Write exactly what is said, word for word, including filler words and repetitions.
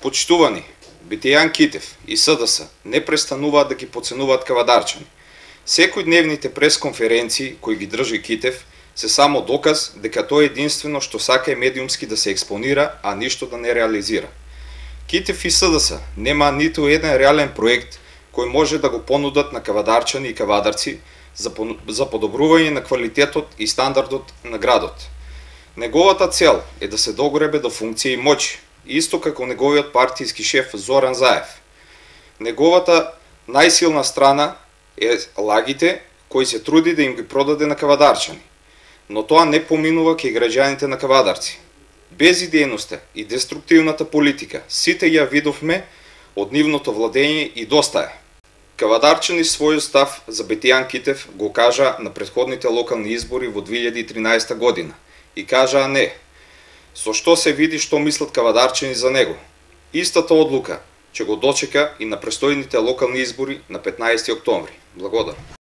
Почитувани, Битејан Китев и СДС не престануваат да ги поценуваат кавадарчани. Секојдневните пресконференции кои ги држи Китев се само доказ дека тој единствено што сака е медиумски да се експонира, а ништо да не реализира. Китев и СДС нема ниту еден реален проект кој може да го понудат на кавадарчани и кавадарци за, за подобрување на квалитетот и стандардот на градот. Неговата цел е да се догребе до функција и моќ, исто како неговиот партиски шеф Зоран Заев. Неговата најсилна страна е лагите кои се труди да им ги продаде на кавадарчани, но тоа не поминува кај граѓаните на кавадарци. Безидејноста и деструктивната политика сите ја видовме од нивното владење и доста е. Кавадарчани својот став за Битејан Китев го кажа на претходните локални избори во две илјади и тринаесетта година и кажаа не, со што се види што мислат кавадарчани за него. Истата одлука ќе го дочека и на престојните локални избори на петнаесети октомври. Благодарам.